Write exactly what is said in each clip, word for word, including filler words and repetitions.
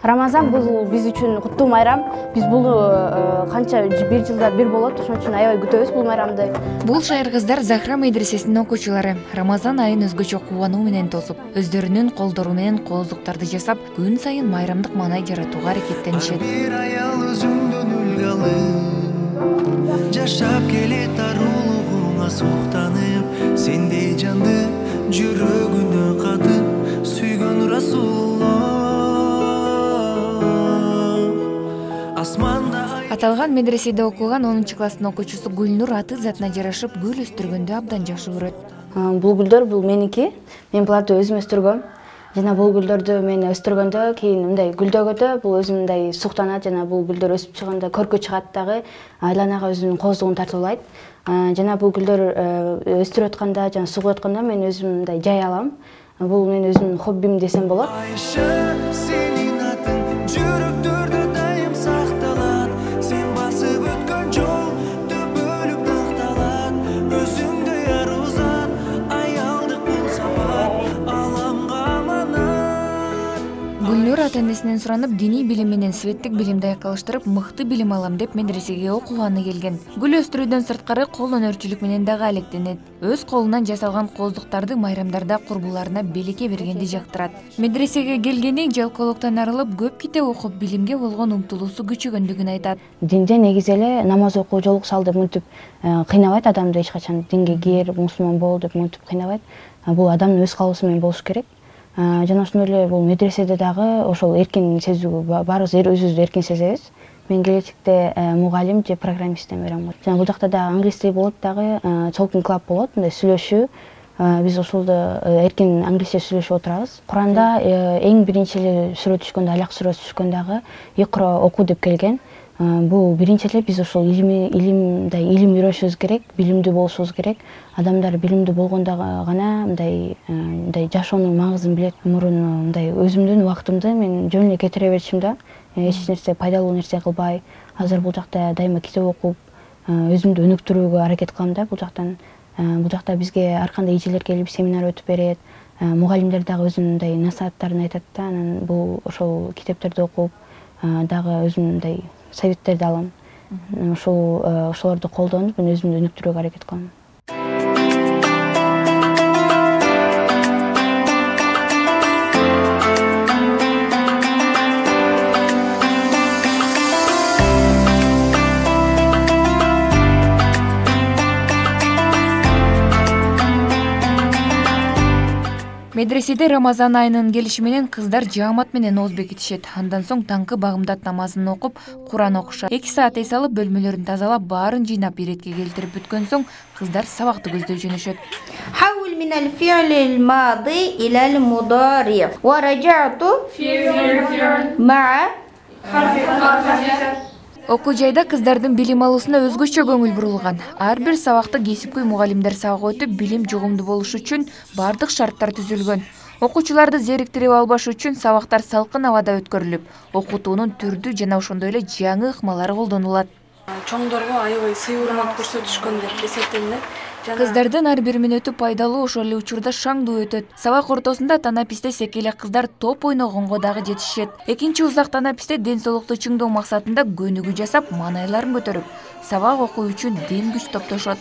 Рамазан бул биз үчүн куттуу майрам. Биз бул канча бир жылда бир болот, ошон үчүн аябай күтөбүз бул майрамды. Бул шайыр кыздар Захра медресесинин окуучулары Рамазан айын өзгөчө кубануу менен тосуп, өздөрүнүн колдору менен кооздуктарды жасап, күн сайын майрамдык маанай жаратууга аракеттенишет. Бир аял өзүңдөн үлгү алып, жашап келет арулугуңа суктанып, сендей жанды жүрөгүнө катып сүйгөн Расулуллах. Аталган медреседе окуган онунчу класстын окуучусу Гүлнур аты затына жарашып гүл өстүргөндү абдан жакшы көрөт. Бул гүлдөр бул меники. Мен буларды өзүм өстүргөм. Жана бул гүлдөрдү мен өстүргөндө кийин мындай гүлдөгөдө бул өзүм мындай суктанат, жана бул гүлдөр өсүп чыгганда көркө чыгат дагы, айланага өзүнүн кооздугун тартуулайт. Жана бул гүлдөр өстүрүп атканда, жана сугуп атканда мен өзүм мындай жай алам. Бул менин өзүмдүн хоббим десем болот. Гүлнур ата-энесинен суранып, диний билим менен светтик билимди айкалыштырып, мыкты билим алам деп медресеге окуганы келген. Гүл өстүрүүдөн сырткары кол өнөрчүлүк менен дагы алектенет. Өз колунан жасалган кооздуктарды майрамдарда курбуларына белекке бергенди жактырат. Медресеге келгени жалкоолуктан арылып, көп китеп окуп, билимге болгон умтулуусу күчөгөндүгүн айтат. Динде негизи эле намаз окуу, жолук салды мынтип кыйнабайт адамды эч качан. Динге кир, мусулман бол деп мынтип кыйнабайт. Бул адамдын өз каалоосу менен болуш керек. Жана ошондой эле бул медреседе дагы ошол эркин сезүү, баарыбыз өзүбүздү эркин сезебиз. Мен келечекте мугалим же программисттен берем. Жана бул жакта дагы англис тил болот, дагы talking club болот, мындай сүйлөшүү. Биз ошолдо эркин англисче сүйлөшүп отурабыз. Куранда эң биринчи эле сүрө түшкөндө, Алак сүрөсү түшкөндө дагы икра оку деп келген. Бул биринчи эле биз ошол илим, илимдей илим үйрөнүшүбүз керек, билимдүү болушубуз керек. Адамдар билимдүү болгондо гана мындай мындай жашоонун маңызын билет. Мурун мындай өзүмдүн убактымды мен жөн эле кетире берчим да. Эч нерсе пайдалуу нерсе кылбай, азыр бул жакта дайыма китеп окуп, өзүмдү өнүктүрүүгө аракет кылам да бул жактан. Бул жакта бизге ар кандай эжелер келип семинар өтүп берет. Мугалимдер дагы өзүнүн мындай насааттарын айтат да. Анан бул ошол китептерди окуп, дагы өзүм мындай советтерди алам. Ошол ошолорду колдонуп, мен өзүмдү өнүктүрүүгө аракет кылам. Медреседе Рамазан айынын келиши менен кыздар жаамат менен ооз бекитишет. Андан соң таңкы багымдат намазын окуп, Куран окушат. эки саат эс алып, бөлмөлөрүн тазалап, баарын жыйнап иретке келтирип бүткөн соң кыздар сабакты көздөй жөнөшөт. حول من الفعل الماضي إلى المضارع ورجعت مع Окуу жайда кыздардын билим алуусуна өзгөчө көңүл бурулган. Ар бир сабакты кесипкөй мугалимдер сабак өтүп, билим жугумдуу болуш үчүн бардык шарттар түзүлгөн. Окуучуларды зериктирип албаш үчүн сабактар салкын абада өткөрүлүп, окутуунун түрдүү жана ошондой эле жаңы ыкмалары колдонулат. Чоңдорго аябай сый урмат көрсөтүшкөн деп эсептелинет. Кыздардын ар бир мүнөтү пайдалуу, ошол эле учурда шаңдуу өтөт. Сабак ортосунда танаписте секеле кыздар топ ойногонго дагы жетишет. Экинчи узак танаписте ден соолукту чыңдоо максатында көнүгүү жасап, маанайларын көтөрүп, сабак окуу үчүн ден күч топтошот.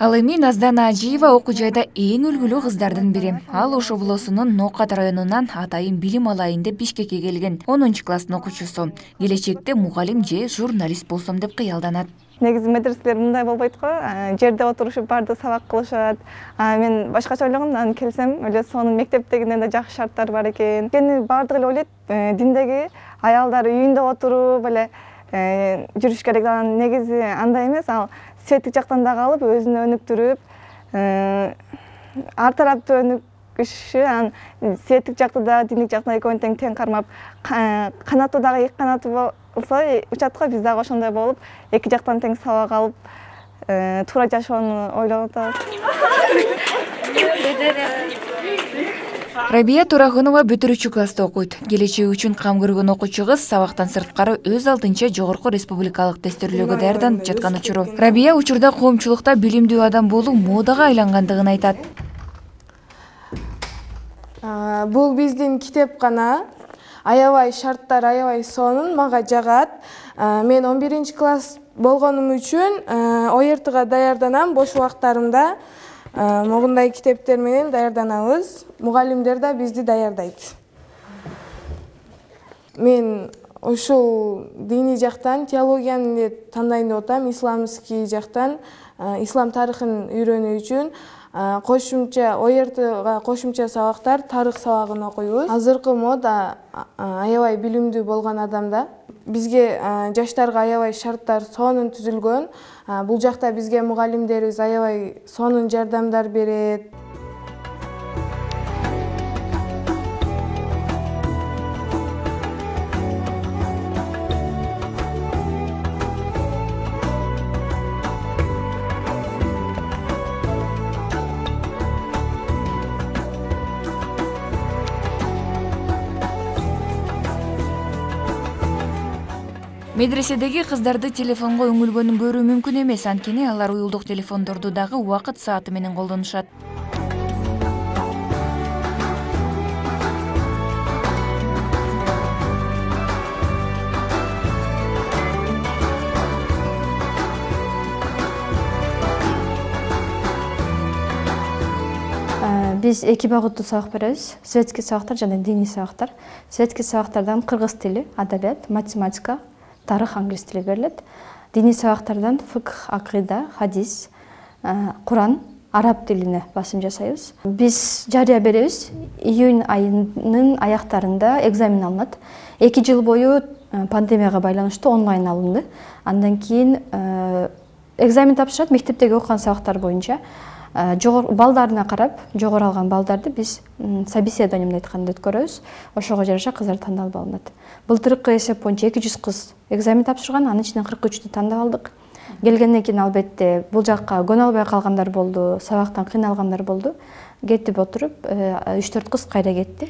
Ал эми Наздана Ажиева окуу жайда эң үлгүлүү кыздардын бири. Ал Ош облусунун Ноокат районунан атайын билим алайын деп Бишкекке келген онунчу класстын окуучусу. Келечекте мугалим же журналист болсом деп кыялданат. Негизи медреселер мындай болбойт го. Жерде отурушуп барды сабак кылышат. Мен башкача ойлогом, анан келсем, эле сонун мектептегиден да жакшы шарттар бар экен. Кени бардыгы эле ойлойт, диндеги аялдар үйүндө отуруп эле жүрүш керек. Анан негизи андай эмес, ал светтик жактан да калып, өзүнө өнүктүрүп, ар тараптуу өнүгүшү, анан светтик жакты да, диндик жактан экөөнү тең тең кармап, канаттуу дагы эки канаттуу болсо учат го, биз дагы ошондой болуп, эки жактан тең сабак алып, туура жашоону ойлонуп атабыз. Рабия Турахунова бүтүрүүчү класста окуйт. Келечеги үчүн кам көргөн окуучу кыз сабактан сырткары өз алдынча жогорку республикалык тестөөлөргө даярданып жаткан учуру. Рабия учурда коомчулукта билимдүү адам болуу модага айлангандыгын айтат. Бул биздин китепкана. Аябай шарттар, аябай сонун мага жагат. Мен он биринчи класс болгонум үчүн о эр тга даярданам. Бош убактарымда могундай китептер менен даярданабыз. Мугалимдер да бизди даярдайт. Мен ушул диний жактан теологияны эле тандайын деп атам, исламский жактан ислам тарыхын үйрөнүү үчүн кошумча о эр тга кошумча сабактар тарых сабагын окуйбуз. Азыркы мода аябай билимдүү болгон адамда. Бизге жаштарга аябай шарттар сонун түзүлгөн. Бул жакта бизге мугалимдерибиз аябай сонун жардамдар берет. Медреседеги кыздарды телефонго үңүлгөнүн көрүү мүмкүн эмес, анткени алар уюлдук телефондорду дагы убакыт сааты менен колдонушат. Биз эки багыттуу сабак беребиз. Светский сабактар жана диний сабактар. Светский сабактардан кыргыз тили, адабият, математика, тарых, англис тили берилет. Диний сабактардан фикх, акыйда, хадис, Куран, араб тилине басым жасайбыз. Биз жарыя беребиз. Июнь айынын аяктарында экзамен алынат. эки жыл бою пандемияга байланыштуу онлайн алынды. Андан кийин экзамен тапшырат мектептеги окуган сабактар боюнча. Жогору балдарына карап, жогору алган балдарды биз собеседование менен айтканда өткөрөбүз. Ошого жараша кыздар тандалып алынат. Былтыркы эсеп боюнча эки жүз кыз экзамен тапшырган, анын ичинен кырк үчтү тандап алдык. Келгенден кийин албетте бул жакка көнө албай калгандар болду, сабактан кыйналгандар болду. Кетип отуруп, үч төрт кыз кайра кетти.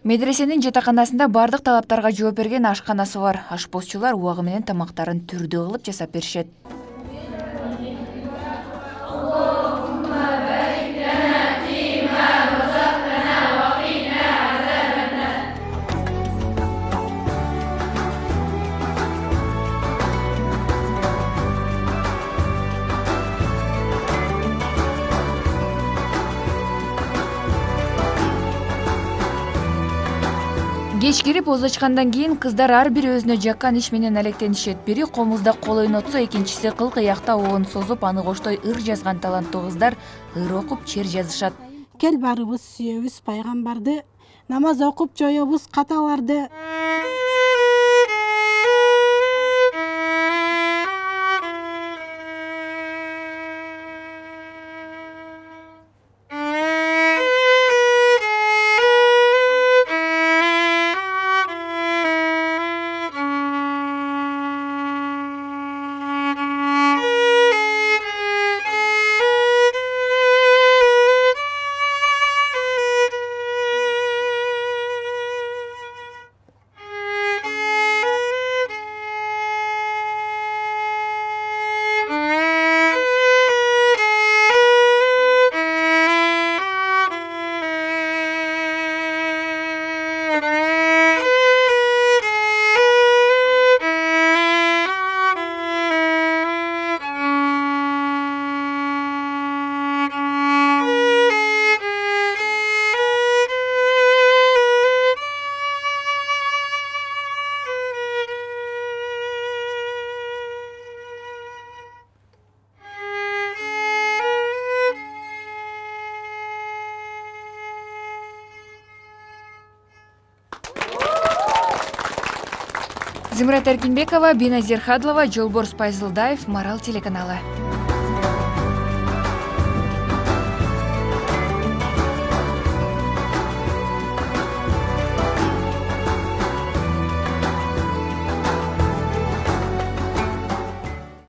Медресенин жатаканасында бардык талаптарга жооп берген ашканасы бар. Ашпозчулар убагы менен тамактарын түрдүү кылып жасап беришет. Кеч кирип оз ачкандан кийин кыздар ар бири өзүнө жаккан иш менен алектенишет. Бири комузда кол ойнотсо, экинчиси кыл кыякта оон созуп, аны коштой ыр жазган таланттуу кыздар ыр окуп, чер жазышат. Кел барыбыз сүйөбүз пайгамбарды, намаз окуп жоёбуз каталарды. Зымрат Эркинбекова, Биназир Хадлова, Жолборс Пайзылдаев, Марал телеканалы.